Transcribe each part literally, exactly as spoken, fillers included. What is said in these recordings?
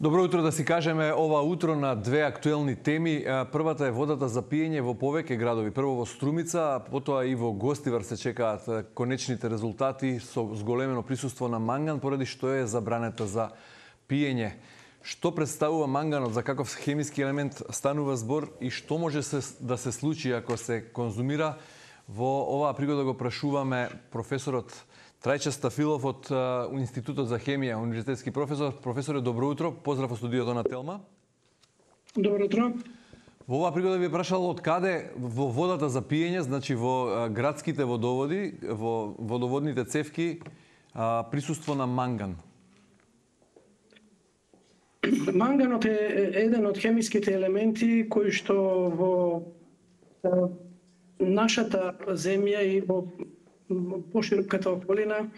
Добро утро, да си кажеме ова утро на две актуелни теми. Првата е водата за пиење во повеќе градови. Прво во Струмица, а потоа и во Гостивар се чекаат конечните резултати со зголемено присуство на манган, поради што е забранета за пиење. Што представува манганот, за каков хемиски елемент станува збор и што може се, да се случи ако се конзумира? Во оваа пригода го прашуваме професорот Трајче Стафилов од Институтот за хемија, универзитетски професор. Професоре, добро утро. Поздрав во студиото на Телма. Добро утро. Во оваа пригода ви прашал од каде во водата за пиење, значи во градските водоводи, во водоводните цевки, присуство на манган. Манганот е еден од хемиските елементи кои што во нашата земја и во пошироката околина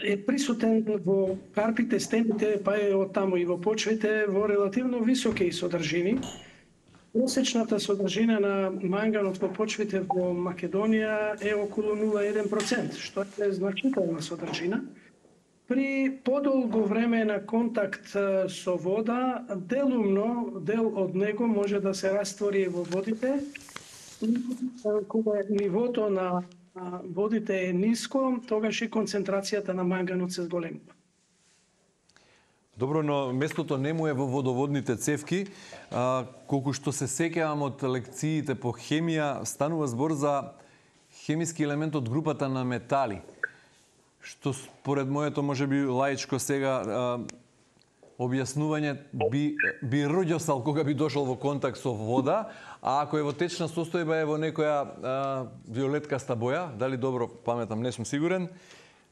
е присутен во карпите, стените, па и од таму и во почвите во релативно високи содржини. Просечната содржина на манганот во почвите во Македонија е околу нула целу еден процент, што е значителна содржина. При подолго време на контакт со вода, делумно дел од него може да се раствори во водите, кога нивото на водите е ниско, тогаш и концентрацијата на манганот се зголемува. Добро, но местото не му е во водоводните цевки. А, колку што се сеќавам од лекциите по хемија, станува збор за хемиски елемент од групата на метали, што според моето можеби лаичко сега а, објаснување би, би роѓосал кога би дошол во контакт со вода, а ако е во течна состојба е во некоја а, виолеткаста боја, дали добро паметам, не сум сигурен.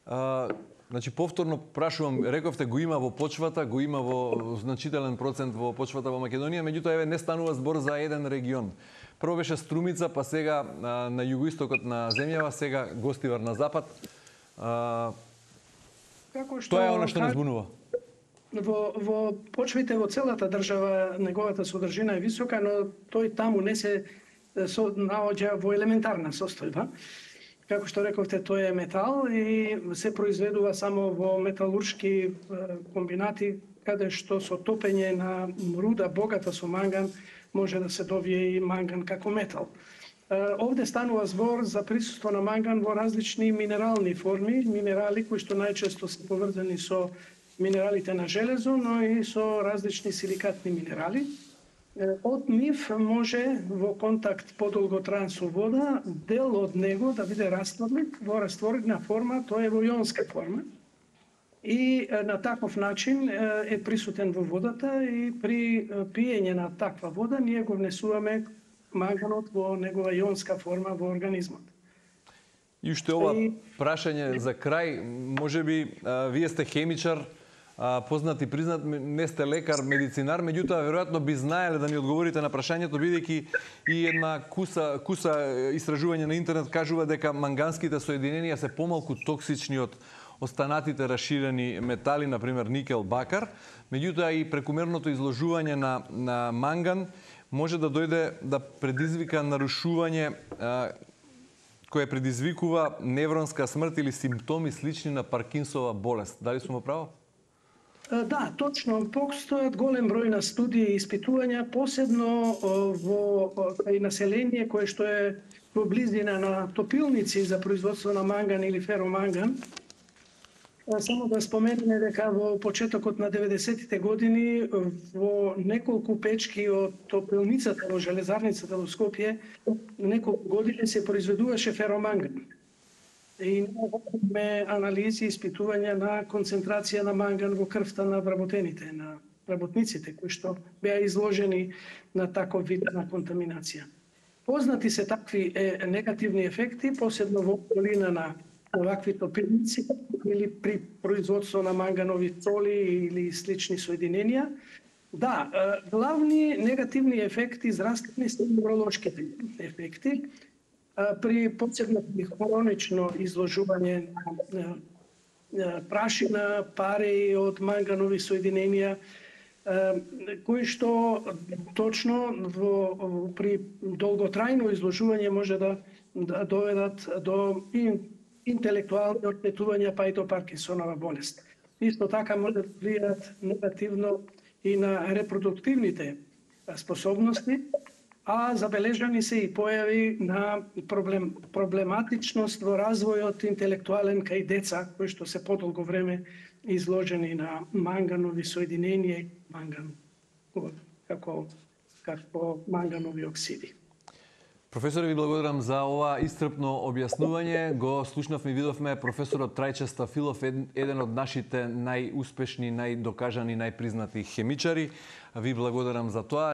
А, значи повторно прашувам, рековте го има во почвата, го има во значителен процент во почвата во Македонија, меѓутоа еве не станува збор за еден регион. Прво беше Струмица, па сега а, на југоистокот на земјава, сега Гостивар на запад. А, Како што тоа е она што нас збунува. Во, во почвите во целата држава неговата содржина е висока, но тој таму не се со, наоѓа во елементарна состојба. Како што рековте, тој е метал и се произведува само во металуршки комбинати, каде што со топење на руда богата со манган може да се добие и манган како метал. Овде станува збор за присуство на манган во различни минерални форми, минерали кои што најчесто се поврзани со минералите на железо, но и со различни силикатни минерали. Од нив може во контакт подолготраен со вода, дел од него да биде растворен во растворена форма, тоа е во јонска форма. И на таков начин е присутен во водата и при пиење на таква вода ние го внесуваме манганот во негова јонска форма во организмот. И уште ова прашање за крај, можеби вие сте хемичар, познат и признат, не сте лекар, медицинар, меѓутоа веројатно би знаеле да ни одговорите на прашањето, бидејќи и една куса, куса истражување на интернет кажува дека манганските соединенија се помалку токсични од останатите раширени метали, например никел, бакар, меѓутоа и прекумерното изложување на, на манган може да дојде да предизвика нарушување а, кое предизвикува невронска смрт или симптоми слични на Паркинсова болест. Дали сум во право? Да, точно. Постојат голем број на студии и испитувања, посебно во кај население кое што е во близина на топилници за производство на манган или фероманган. Само да споменеме дека во почетокот на деветдесетите години во неколку печки од топилницата во железарницата во Скопје неколку години се произведуваше фероманган. И имаме анализи и испитувања на концентрација на манган во крвта на вработените, на работниците кои што беа изложени на таков вид на контаминација. Познати се такви е, негативни ефекти, посебно во околина на овакви топилници или при производство на манганови соли или слични соединенија. Да, главни негативни ефекти здравствени се невролошките ефекти. При посебно при хронично изложување на прашина, пари од манганови соединенија, кои што точно во, при долготрајно изложување може да, да доведат до интелектуални оштетувања, па и до Паркинсонова болест. Исто така може да влијаат негативно и на репродуктивните способности, а забележани се и појави на проблем, проблематичност во развојот интелектуален кај деца кои што се подолго време изложени на манганови соединенија, манган како како манганови оксиди. Професоре, ви благодарам за ова исцрпно објаснување. Го слушнавме и видовме професорот Трајче Стафилов, еден од нашите најуспешни, најдокажани, најпризнати хемичари. Ви благодарам за тоа.